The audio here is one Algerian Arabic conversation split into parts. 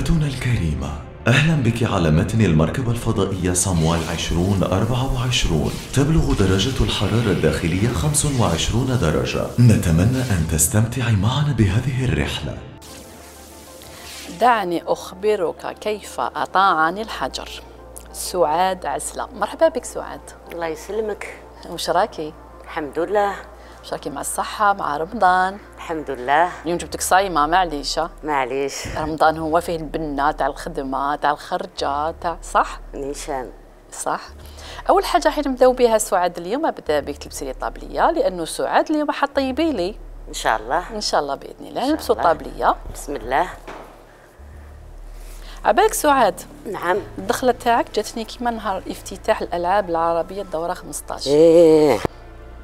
ضيفتنا الكريمة، أهلا بك على متن المركبة الفضائية صامويل 2024. تبلغ درجة الحرارة الداخلية 25 درجة. نتمنى أن تستمتعي معنا بهذه الرحلة. دعني أخبرك كيف أطاعني الحجر. سعاد عسلة. مرحبا بك سعاد. الله يسلمك. وش راكي؟ الحمد لله. وش راكي مع الصحة مع رمضان؟ الحمد لله. اليوم جبتك صايمة معليش. معليش. رمضان هو فيه البنة تاع الخدمة تاع الخرجة تاع صح؟ نيشان. صح. أول حاجة حين نبداو بها سعاد اليوم أبدا بك تلبسي لي طابلية، لأنه سعاد اليوم حطيبي لي. إن شاء الله. إن شاء الله بإذن الله نلبسوا طابلية. بسم الله. عبالك سعاد. نعم. الدخلة تاعك جاتني كيما نهار افتتاح الألعاب العربية الدورة 15. إيه.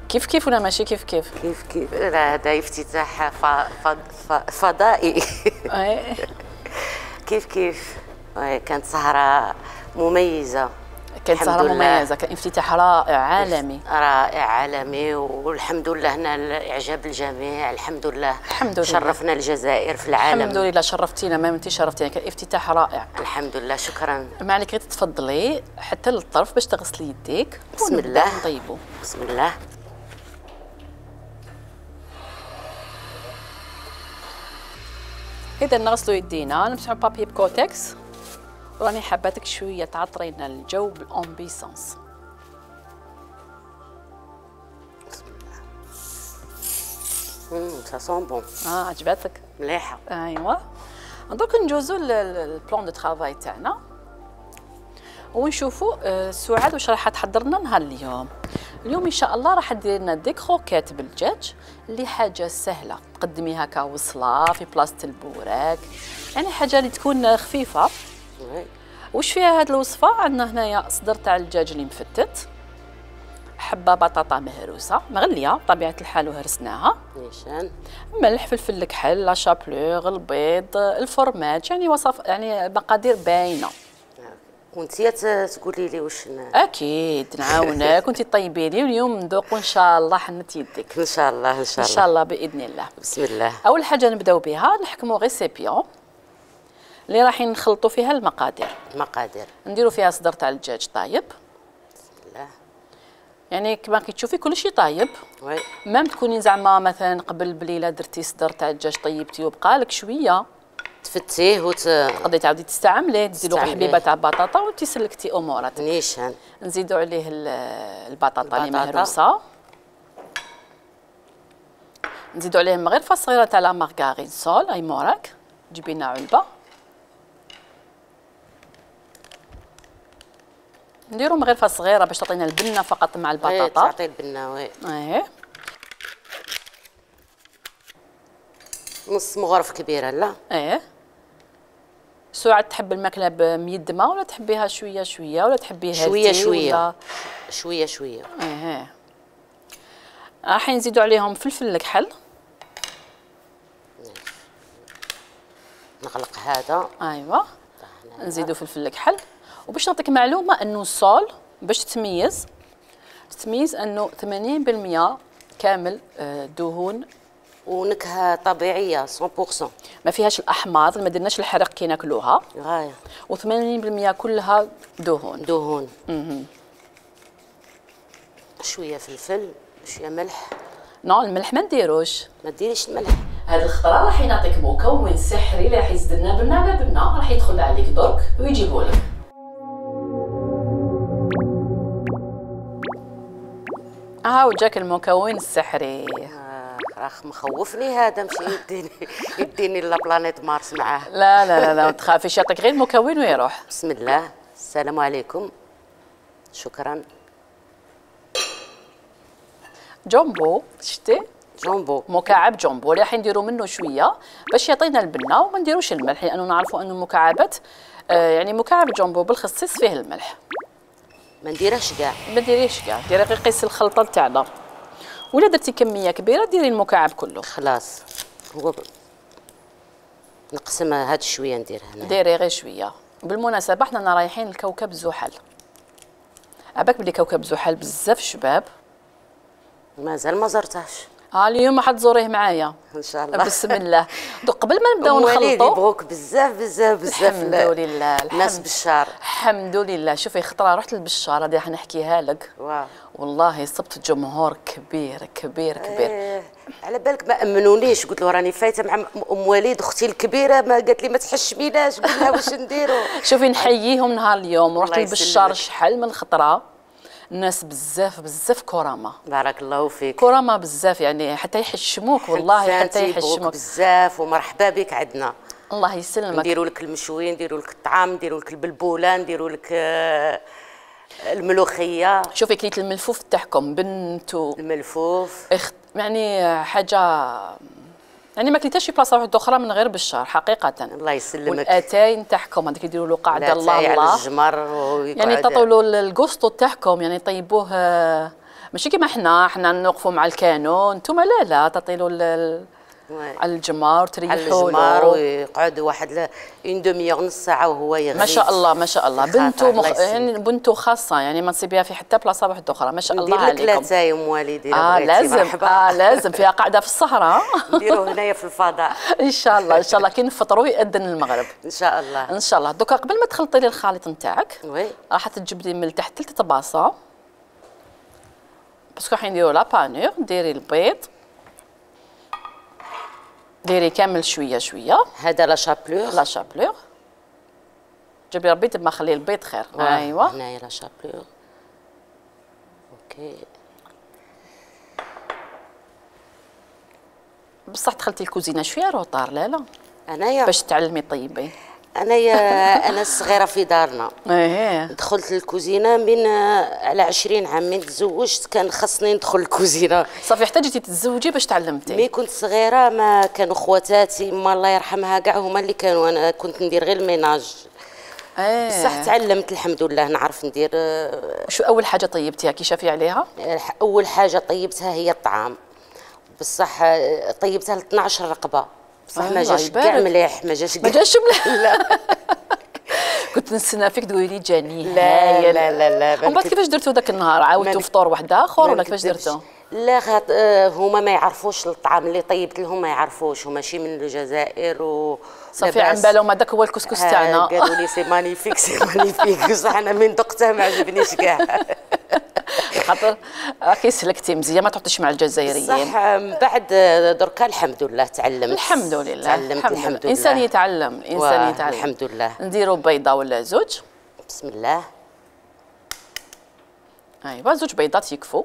كيف ولا ماشي كيف؟ كيف لا هذا افتتاح فضائي. كيف كانت سهرة مميزة. كانت سهرة مميزة، كان افتتاح رائع عالمي والحمد لله هنا اعجاب الجميع. الحمد لله الحمد لله شرفنا الجزائر في العالم. الحمد لله شرفتينا، ما انت شرفتينا، كان افتتاح رائع. الحمد لله شكرا. ما عليك غير تتفضلي حتى للطرف باش تغسلي يديك. بسم الله. نطيبوا. بسم الله. إذا نغسلوا يدينا نمسحوا بابي بكوتكس، وراني حباتك شويه تعطرينا الجو بالامبيسونس. بسم الله. سا سون بون. عجبتك؟ مليحه. ايوا. دوك نجوزو البلان دو ترافاي تاعنا ونشوفوا سعاد واش راح تحضر لنا نهار اليوم. اليوم ان شاء الله راح دير لنا دي كروكيت بالدجاج اللي حاجه سهله، تقدميها كوصله في بلاصه البوراك، يعني حاجه اللي تكون خفيفه. وش فيها هاد الوصفه؟ عندنا هنايا صدر تاع الدجاج اللي مفتت، حبه بطاطا مهروسه مغليه بطبيعه الحال وهرسناها، نيشان، ملح، فلفل الكحل، لا شابلوغ، البيض، الفرماج، يعني وصف يعني مقادير باينه. وانتي تقولي لي واش اكيد نعاونك وانتي طيبي لي، واليوم نذوقوا ان شاء الله حنة يدك. ان شاء الله ان شاء الله ان شاء الله باذن الله. بسم الله. اول حاجه نبداو بها نحكموا ريسيبيون اللي رايحين نخلطوا فيها المقادير. نديروا فيها صدر تاع الدجاج طايب. بسم الله. يعني كما كتشوفي كل شيء طايب. وي. مام تكوني زعما مثلا قبل بليله درتي صدر تاع الدجاج طيبتيه وبقى لك شويه تفتيه تقدري تعاودي تستعمليه، ديري له حبيبه تاع بطاطا وانتي سلكتي اموراتك. نيشان. نزيدوا عليه البطاطا اللي مهروسه، نزيدوا عليه مغرفه صغيره تاع لا مارغارين سول اي موراك، جيبي لنا علبه، نديروا مغرفه صغيره باش تعطينا البنه فقط مع البطاطا. تعطي البنه. وي. نص مغرف كبيره لا. سعاد تحب الماكله بميدمه ولا تحبيها شويه ولا تحبيها شويه. راح نزيدوا عليهم فلفل الكحل. نغلق هذا. ايوا. نزيدوا فلفل الكحل. وباش نعطيك معلومه انه الصول باش تتميز انه 80% كامل دهون ونكهه طبيعيه 100%، ما فيهاش الاحماض، ما درناش الحرق كي ناكلوها غايه، و80% كلها دهون. شويه فلفل، شويه ملح. نو الملح ما نديروش، ما ديريش الملح. هذه الخطره راح يعطيك مكون سحري اللي راح يزيد لنا بنه على بنه، راح يدخل عليك درك ويجيبه لك. وجاك المكون السحري. راح مخوفني هذا، مشي يديني لا بلانيت مارس معاه. لا ما تخافيش، يعطيك غير المكون ويروح. بسم الله. السلام عليكم. شكرا. جامبو، شتي؟ جامبو، مكعب جامبو اللي راح نديروا منه شويه باش يعطينا البنه، وما نديروش الملح لانه نعرفوا انه المكعبات يعني مكعب جامبو بالخصيص فيه الملح. ما نديرهش كاع. ما ديريش كاع، ديري غير قيس الخلطه تاعنا. ولا درتي كميه كبيره ديري المكعب كله. خلاص. هو نقسم هاد شويه ندير هنا. ديري غير شويه. بالمناسبه حنا رايحين لكوكب زحل. عباك بلي كوكب زحل بزاف شباب مازال ما زرتهاش. اليوم حتزوريه معايا ان شاء الله. بسم الله. دوك قبل ما نبداو وليدي نخلطوا، يبغوك بزاف بزاف بزاف. الحمد لله الناس بالشار. الحمد لله. شوفي خطره رحت للبشار هذه راح نحكيها لك. واو. والله صبت جمهور كبير كبير كبير. على بالك ما امنونيش، قلت له راني فايته مع ام وليد اختي الكبيره، ما قالت لي ما تحشميناش، قلت لها واش نديروا. شوفي نحييهم نهار اليوم ورحت الله للبشار يسلمك. شحال من خطره، الناس بزاف بزاف كرامه. بارك الله فيك. كرامه بزاف يعني حتى يحشموك والله حتى يحشموك بزاف، ومرحبا بك عندنا. الله يسلمك. نديروا لك المشوي، نديروا لك الطعام، نديروا لك البلبوله، نديروا لك الملوخيه. شوفي كليت الملفوف تاعكم بنتو الملفوف يعني حاجه يعني ما كليتهاش في بلاصه واحده اخرى من غير بشار حقيقه. الله يسلمك. والاتاي تاعكم هذيك يديروا له قاعده الله على الله الجمر يعني تعطوا له الكوستو تاعكم يعني طيبوه ماشي كيما حنا نوقفوا مع الكانون، نتوما لا تعطي له على الجمار تريحوا على الجمر ويقعد واحد اون دوميور نص ساعه وهو يغلي. ما شاء الله ما شاء الله. بنتو يعني بنتو خاصه يعني ما تصيبيها في حتى بلاصه واحده اخرى. ما شاء الله عليكم. ندير لك لا يا ام والدي لازم لازم فيها قاعده في الصحراء. نديروا هنايا في الفضاء. ان شاء الله ان شاء الله كي نفطروا يأذن المغرب ان شاء الله. ان شاء الله. دوكا قبل ما تخلطي لي الخليط نتاعك وي راح تجيب لي من تحت 3 طباسه باسكو راح نديروا لا بانور. ديري البيض، ديري كامل شويه شويه. هذا لا شابلور. لا شابلور جيبي ربي تما خلي البيض خير. ايوا هنايا لا شابلور. اوكي. بصح دخلتي الكوزينه شويه روطار. لا انايا باش تعلمي طيبي. انا الصغيره في دارنا. دخلت الكوزينه من على 20 عام. من تزوجت كان خصني ندخل الكوزينه. صافي حتى جيتي تتزوجي باش تعلمتي؟ مي كنت صغيره ما كانوا خواتاتي ما الله يرحمها كاع هما اللي كانوا، انا كنت ندير غير الميناج. بصح تعلمت الحمد لله نعرف ندير. شو اول حاجه طيبتيها كي شافي عليها؟ اول حاجه طيبتها هي الطعام، بصح طيبتها ل 12 رقبه. بصح ما جاش كاع مليح. ما جاش مليح. لا كنت نستنى فيك تقولي لي جاني لا لا لا لا. ومن بعد كيفاش درتو ذاك النهار؟ عاودتوا فطور واحد اخر ولا كيفاش درتو؟ لا هما ما يعرفوش الطعام اللي طيبت لهم، ما يعرفوش، هما ماشي من الجزائر صافي عن بالهم هذاك هو الكسكس تاعنا. قالوا لي سي مانيفيك سي مانيفيك. بصح انا من دقته ما عجبنيش كاع. خاطر راكي سلكتي مزيان ما تعطيش مع الجزائريين. صح من بعد دركا الحمد لله تعلمت. الحمد لله تعلمت الحمد لله. الانسان يتعلم الانسان يتعلم الحمد لله. نديروا بيضه ولا زوج؟ بسم الله. ايوا 2 بيضات يكفوا.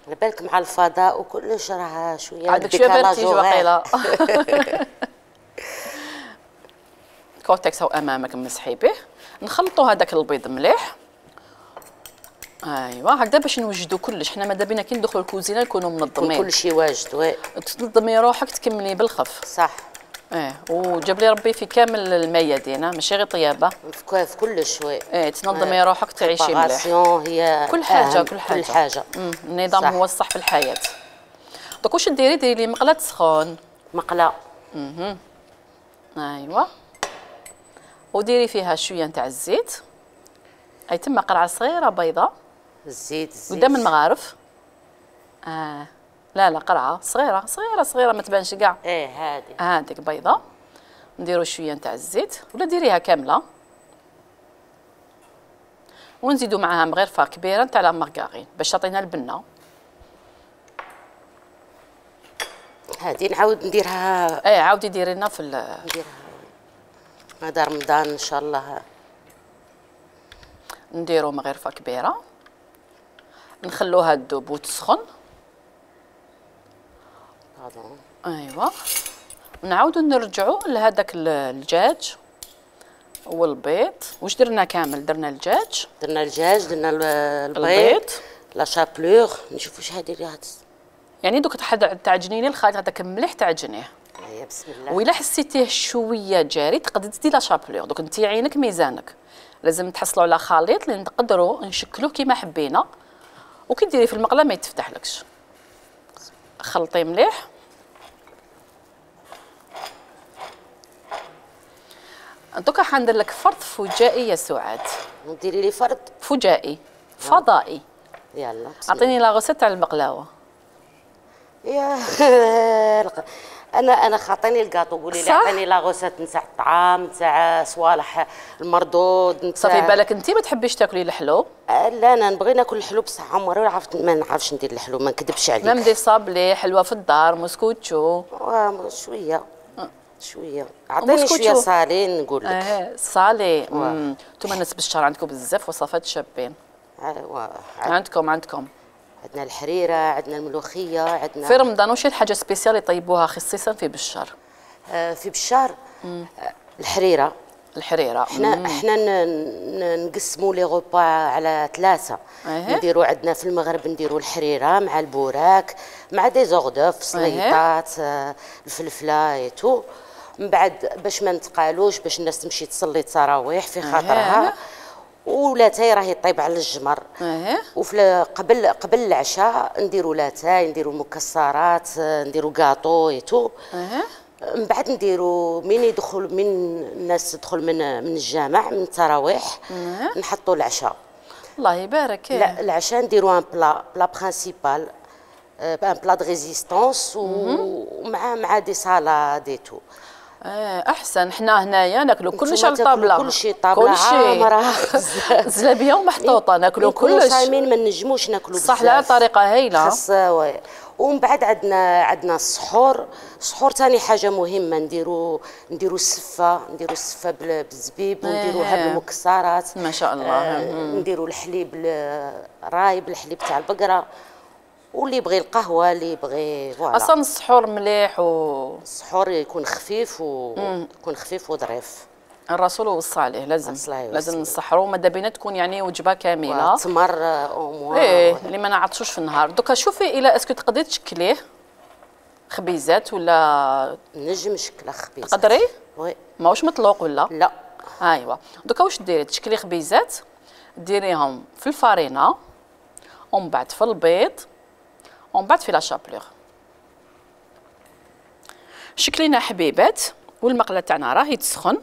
على بالك مع الفضاء وكلش راه شويه عندك شويه برتيج واقيلا. كورتكس هو امامك مسحي به. نخلطوا هذاك البيض مليح. ايوا هكذا باش نوجدوا كلش. حنا ماذا بينا كي ندخلوا الكوزينه نكونوا منظمين. كلشي واجد. وي تنظمي روحك تكملي بالخف. صح. وجاب لي ربي في كامل الميادين ماشي غير طيابه. في كلش. وي تنظمي روحك تعيشي مليح. هي كل حاجه كل حاجه. النظام صح. هو الصح في الحياه. دوك واش ديري لي مقله سخون. مقله. ايوا وديري فيها شويه نتاع الزيت. اي تما قرعه صغيره بيضه. الزيت قدام المغارف. لا قرعه صغيره ما تبانش كاع. هذيك بيضه. نديروا شويه نتاع الزيت ولا ديريها كامله ونزيدوا معاها مغرفه كبيره نتاع لا مارغارين باش تعطينا البنه. هذه نعاود نديرها. عاودي ديري لنا في نديرها هذا رمضان ان شاء الله. نديروا مغرفه كبيره نخلوها تذوب وتسخن. ايوا ونعاودوا نرجعوا لهذاك الدجاج والبيض. واش درنا كامل؟ درنا الدجاج درنا البيض لا شابلور. نشوفوا شحال ديريها يعني دوك تعجني لي الخليط هذاك مليح تعجنيه. بسم الله. وإلا حسيتيه شويه جاري تقدري تزيدي لا شابلور. دوك انت عينك ميزانك لازم تحصلوا على خليط اللي نقدروا نشكلوه كيما حبينا وكي ديري في المقله ما يتفتحلكش. خلطي مليح. دوكا حندير لك فرض فجائي يا سعاد. ديري لي فرض فجائي فضائي. يلا اعطيني لا غوسيت تاع البقلاوه. يا انا خاطيني الكاطو، قولي لي عطيني لا غوسيت نتاع الطعام، نتاع صوالح المردود، نتاع صافي بالك انت ما تحبيش تاكلي الحلو؟ لا انا نبغي ناكل الحلو بصح عمري ما نعرفش ندير الحلو، ما نكذبش عليك. مام دي صابلي حلوه في الدار، موسكوتشو. شويه شويه، عطيني شويه صالين نقول لك. صالي. انتم الناس بالشهر عندكم بزاف وصفات شابين. عندكم عندنا الحريره، عندنا الملوخيه، عندنا في رمضان واش الحاجه سبيسيال يطيبوها خصيصا في بشار؟ في بشار الحريره. احنا نقسموا لي غوبا على 3. نديروا عندنا في المغرب نديروا الحريره مع البوراك مع دي زوغدوف، سليطات، الفلفله ايتو. من بعد باش ما نتقالوش، باش الناس تمشي تصلي التراويح في خاطرها، ولاتاي راهي طيب على الجمر. وفي قبل العشاء نديروا لاتاي، نديروا مكسرات، نديروا كاطو ايتو. من بعد نديرو من الناس تدخل من الجامع من التراويح، نحطوا العشاء. الله يبارك. لا العشاء نديرو ان بلا برينسيبال، ان بلا دو ريزيستونس، ومع دي سالاد ايتو. احسن. حنا هنايا ناكلوا كلش على الطابله، كلشي طابله عامره زلابيه ومحطوطه، ناكلوا كلش. صايمين ما نجموش ناكلوا بزاف. صح، لا طريقه هايله. ومن بعد عندنا السحور. السحور ثاني حاجه مهمه، نديروا السفه بالزبيب، ونديروها بالمكسرات ما شاء الله. نديروا الحليب الرايب، الحليب تاع البقره، واللي يبغي القهوه، اللي يبغي فوالا. اصلا السحور مليح السحور يكون خفيف وظريف. الرسول وصى عليه لازم نسحروا، ماذا بينا تكون يعني وجبه كامله. تمر او اللي ما نعطشوش في النهار. دوكا شوفي الى اسكو تقدري تشكليه خبيزات ولا نجم نشكله خبيزات؟ تقدري؟ وي. ماهوش مطلوق ولا؟ لا. ايوا دوكا واش ديري؟ تشكلي خبيزات، ديريهم في الفارينه، ومن بعد في البيض، ومن بعد في لا شابلور. شكلينا حبيبات، والمقله تاعنا راهي تسخن.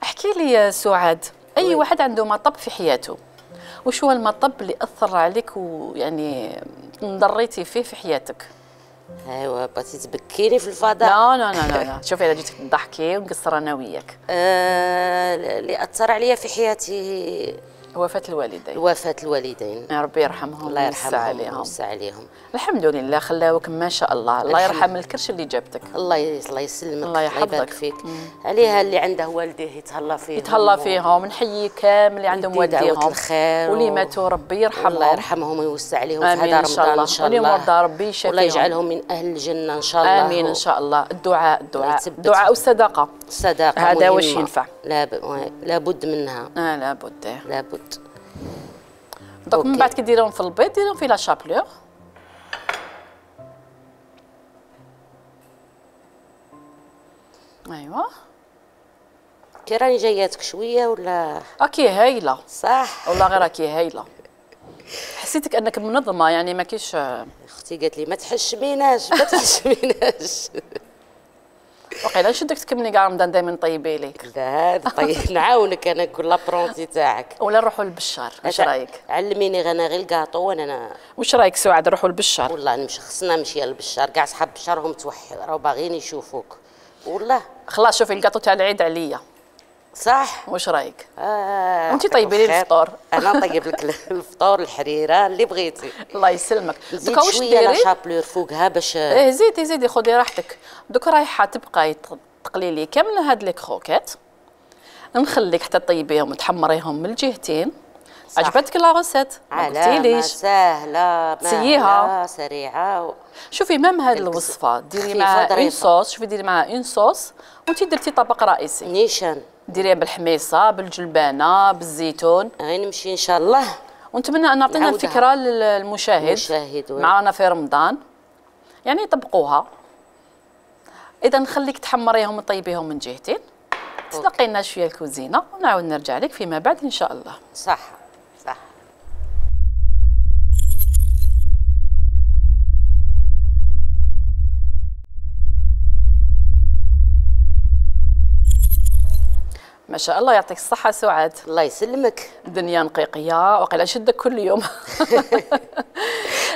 احكي لي يا سعاد، اي واحد عنده مطب في حياته، وش هو المطب اللي اثر عليك ويعني انضريتي فيه في حياتك؟ ايوا بغيتي تبكيني في الفضاء؟ لا شوفي، الا جيتك تضحكي ونقصر انا وياك. اللي اثر عليا في حياتي وفاة الوالدين. يا ربي يرحمهم، الله يرحمهم ويوسع عليهم. الحمد لله خلاوك ما شاء الله. الله يرحم الكرش اللي جابتك. الله يسلمك، الله يحفظك فيك. عليها اللي عنده والديه يتهلا فيهم. نحيي كامل اللي عندهم والديهم الخير، واللي ماتوا ربي يرحمهم. الله يرحمهم ويوسع عليهم في هذا رمضان ان شاء الله. واللي مرضى ربي يشافيهم، والله يجعلهم من اهل الجنه ان شاء الله. امين ان شاء الله. الدعاء والصدقه، هذا واش ينفع. لابد منها. لابد. دوك من بعد كي ديرهم في البيض، ديرهم في لا شابلور. ايوا كي راني جاياتك شويه ولا اكي هايله؟ صح والله غير اكي هايله. حسيتك انك منظمه يعني ما كاينش. اختي قالت لي ما تحشميناش. وقيلا نشدك تكملي كاع رمضان دائما طيبي ليك. لا طيب نعاونك انا كل لابرونتي تاعك. ولا نروحوا للبشار، واش رايك؟ علميني غير الكاطو وانا. واش رايك سعاد نروحوا للبشار؟ والله خصنا نمشي للبشار، كاع صحاب البشار هم راهو باغيين يشوفوك والله. خلاص شوفي الكاطو تاع العيد عليا. صح. واش رايك؟ وانت طيبي لي الفطور. انا طيب لك الفطور، الحريره اللي بغيتي. الله يسلمك. دوكا واش ديري؟ لا شابلور فوقها باش زيدي خذي راحتك. دوكا رايحه تبقاي تقلي لي كامل هاد لي كروكيت، نخليك حتى طيبيهم وتحمريهم من الجهتين. عجبتك لا غوسيت؟ ما قلتيليش. ساهله سيها سريعه. شوفي مام هاد الوصفه ديري معها اون صوص. شوفي ديري معها اون صوص وانت درتي طبق رئيسي. نيشان ديريها بالحميصه، بالجلبانه، بالزيتون. غير نمشي ان شاء الله. ونتمنى ان نعطينا الفكره للمشاهد معنا في رمضان، يعني يطبقوها. اذا نخليك تحمريهم وطيبيهم من جهتين، تلقينا شويه الكوزينه، ونعاود نرجع لك فيما بعد ان شاء الله. صح. ما شاء الله يعطيك الصحة سعاد. الله يسلمك. الدنيا نقيقية وقيلا شدك كل يوم.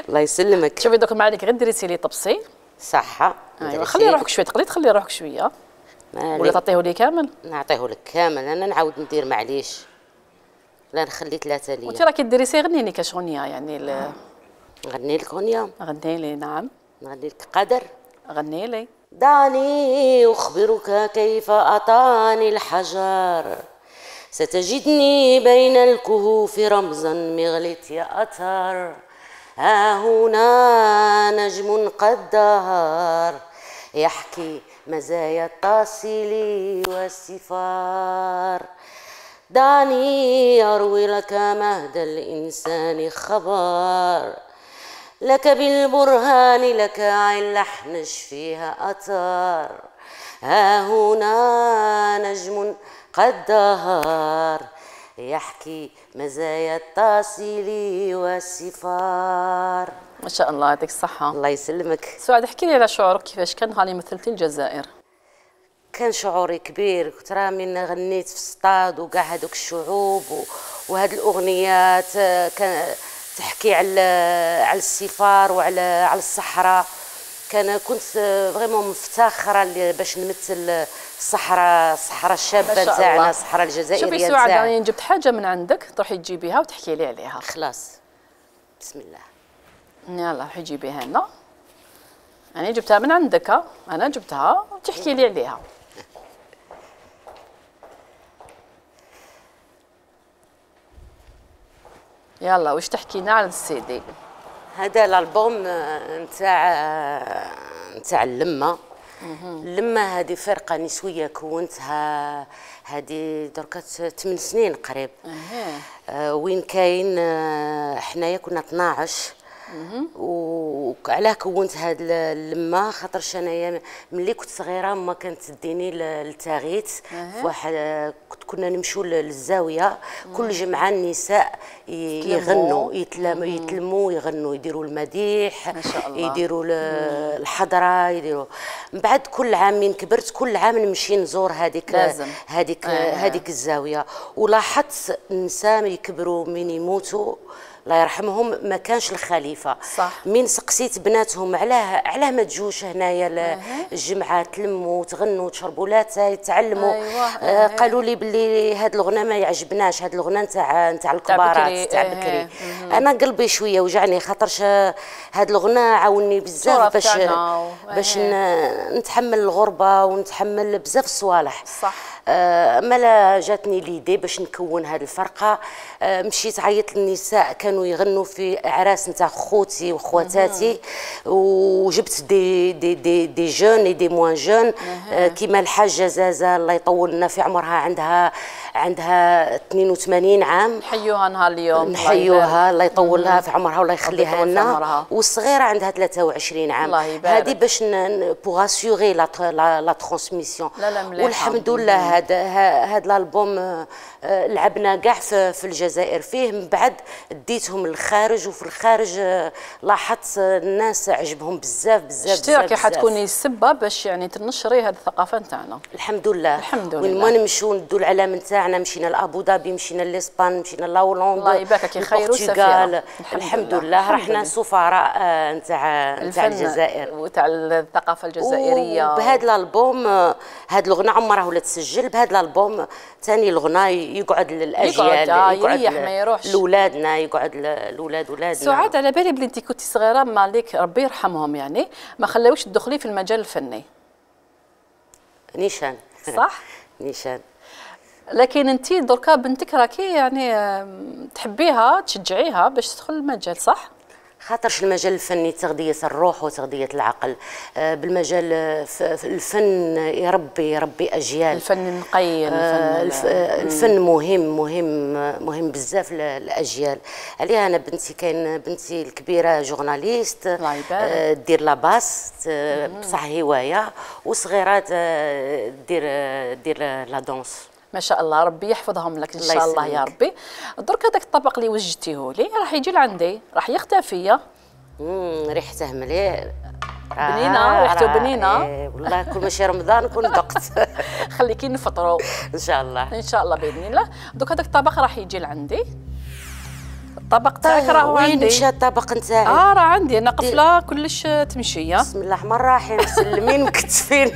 الله يسلمك. شوفي دوك ما عليك غير ديري سيلي طبسي. صحة. ايوا خلي روحك شوية، تقدري تخلي روحك شوية ولا تعطيه لي كامل؟ نعطيه لك كامل، انا نعاود ندير معليش. لا نخلي 3 ليا. وانت راكي ديري سي غنيني كاش غنية يعني نغني لك غنية؟ غني لي. نعم نغني لك قدر. غني لي. دعني أخبرك كيف أعطاني الحجر، ستجدني بين الكهوف رمزا مغلت يا أثر. ها هنا نجم قد دهر يحكي مزايا التاصيل والسفار. دعني أروي لك مهد الإنسان خبر، لك بالبرهان لك عين لحنش فيها أثر. ها هنا نجم قد دهر يحكي مزايا التاصيل والسفار. ما شاء الله يعطيك الصحة. الله يسلمك. سعاد احكي لي على شعورك كيفاش كان نهار اللي مثلتي الجزائر. كان شعوري كبير، كنت راه من غنيت في السطاد وكاع هذوك الشعوب وهاد الأغنيات كان تحكي على السفار وعلى الصحراء. كنت فريمون مفتخره باش نمثل الصحراء الشابه تاعنا، الصحراء الجزائريه. شوفي سعاد راني جبت حاجه من عندك تروحي تجيبيها وتحكي لي عليها. خلاص بسم الله. يلا روحي جيبيها لنا. انا جبتها من عندك، انا جبتها وتحكي لي عليها. يلا واش تحكينا على السيدي؟ هذا الالبوم نتاع اللمه. اللمه هذه فرقه نسويه كونتها هذه دركا 8 سنين قريب. وين كاين حنايا كنا 12. وعلاه كونت هاد اللمه خاطرش انايا ملي كنت صغيره ما كانت تديني للتاغيت. واحد كنا نمشيو للزاويه كل جمعه النساء يغنوا يتلموا يغنوا، يديروا المديح، ما شاء الله. يديروا الحضره، يديروا. من بعد كل عام من كبرت كل عام نمشي نزور هذيك الزاويه. ولاحظت النساء يكبروا من يموتوا الله يرحمهم ما كانش الخليفه. صح. من سقسيت بناتهم علاه ما تجوش هنايا الجمعه تلموا تغنوا تشربوا لاتاي تعلموا. قالوا لي باللي هاد الغنى ما يعجبناش، هاد الغنى نتاع الكبارات تاع بكري. انا قلبي شويه وجعني خاطرش هاد الغنى عاوني بزاف باش نتحمل الغربه ونتحمل بزاف الصوالح. صح. مالا جاتني ليدي باش نكون هذه الفرقه. مشيت عيطت للنساء كانوا يغنوا في اعراس نتاع خوتي وخواتاتي، وجبت دي جون دي موان جون كيما الحاجه زازا الله يطول لنا في عمرها، عندها 82 عام. نحيوها نهار اليوم. نحيوها الله يطول لها في عمرها والله يخليها لنا. والصغيره عندها 23 عام. هذه باش بوغ اسيغي لا ترانسميسيون. والحمد لله هذا الالبوم لعبنا كاع في الجزائر فيه. من بعد ديتهم للخارج، وفي الخارج لاحظت الناس عجبهم بزاف بزاف. شتي راكي حتكوني السبه باش يعني تنشري هذه الثقافه نتاعنا. الحمد لله. الحمد لله. وين ما نمشيو ندو العلام نتاعنا، مشينا لابو ظبي، مشينا لاسبان، مشينا لهولندا، الله يبارك كي خير وسفيره. الحمد لله. رحنا سفراء نتاع الجزائر وتاع الثقافه الجزائريه. وبهذا الالبوم هذا الغنى عمره ولا تسجل. بهذا الالبوم ثاني الغنى يقعد للاجيال، يقعد ما يروحش لاولادنا، يقعد لاولاد ولادنا. سعاد على بالي بلي انت كنتي صغيره مالك ربي يرحمهم يعني ما خلاوش تدخلي في المجال الفني. نيشان. صح. نيشان. لكن انت دركا بنتك راكي يعني تحبيها تشجعيها باش تدخل المجال، صح؟ خاطرش المجال الفني تغذية الروح وتغذية العقل. بالمجال الفن يربي أجيال. الفن نقي. الفن مهم بزاف للأجيال. عليها أنا بنتي الكبيرة جورناليست دير لاباس بصح هواية، وصغيرات دير لا دونس. ما شاء الله ربي يحفظهم لك ان شاء الله يا ربي. درك هذاك الطبق اللي وجدتيه لي راح يجي لعندي راح يختفي. ريحته مليح، بنينه ريحته بنينه. والله كل ماشي رمضان نكون ذقت. خليكي نفطروا ان شاء الله ان شاء الله باذن الله. دوك هذاك الطبق راح يجي لعندي. الطبق تاعك راهو عندي. وين مشى الطبق نتاعي؟ راه عندي انا قفله كلش تمشيه. بسم الله الرحمن الرحيم. مسلمين مكتفين.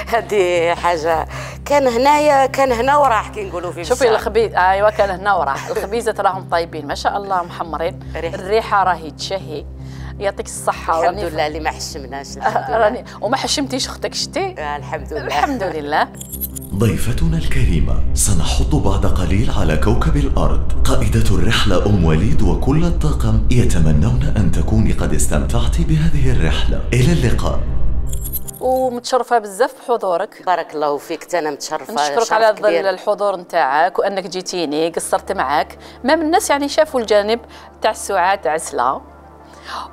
هذه حاجه كان هنايا كان هنا وراح كي نقولوا في شوفي الخبيز. ايوا كان هنا وراح. الخبيزات راهم طيبين ما شاء الله محمرين. الريحه راهي تشهي. يعطيك الصحه. الحمد لله اللي ما حشمناش. الحمد لله. راني وما حشمتيش اختك شتي. الحمد لله. الحمد لله. ضيفتنا الكريمة سنحط بعد قليل على كوكب الأرض. قائدة الرحلة أم وليد وكل الطاقم يتمنون أن تكوني قد استمتعت بهذه الرحلة. إلى اللقاء. ومتشرفه بزاف بحضورك. بارك الله فيك. انا متشرفه. نشكرك على الحضور نتاعك وانك جيتيني قصرت معك. ما من الناس يعني شافوا الجانب تاع سعاد عسله.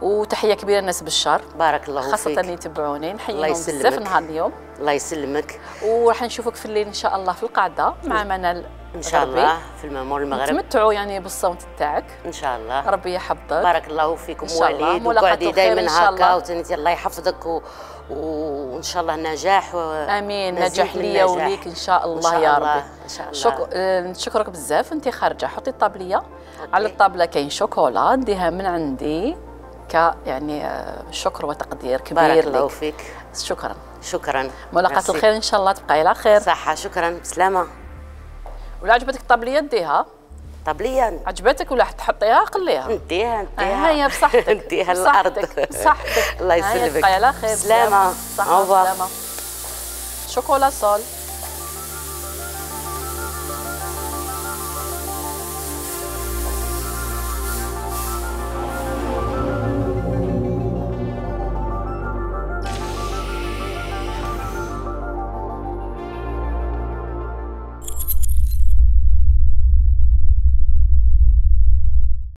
وتحيه كبيره للناس بالشر. بارك الله فيك. خاصه اللي يتبعوني نحييهم بزاف نهار اليوم. الله يسلمك. وراح نشوفك في الليل ان شاء الله في القاعده مع منال ان شاء الله في المامور المغرب. تمتعوا يعني بالصوت تاعك ان شاء الله. ربي يحفظك. بارك الله فيكم وليد. وقعدي دائما هكا وتنتي الله يحفظك وان شاء الله نجاح. امين. نجاح ليا وليك ان شاء الله يا ربي. ان شاء الله. نشكرك بزاف. انت خارجه حطي الطابليه. على الطابله كاين شوكولا نديها من عندي يعني شكر وتقدير كبير لك. بارك الله فيك. شكرا. شكرا. ملاقاة الخير ان شاء الله. تبقاي على خير. صحه. شكرا. بسلامه. ولا عجبتك الطابليه ديها؟ طابليه عجبتك ولا تحطيها قليها؟ نديها هيا بصحتك. نديها الارض. بصحتك. الله يسلمك. تبقاي على خير. سلامه. سلامه. شوكولا سول.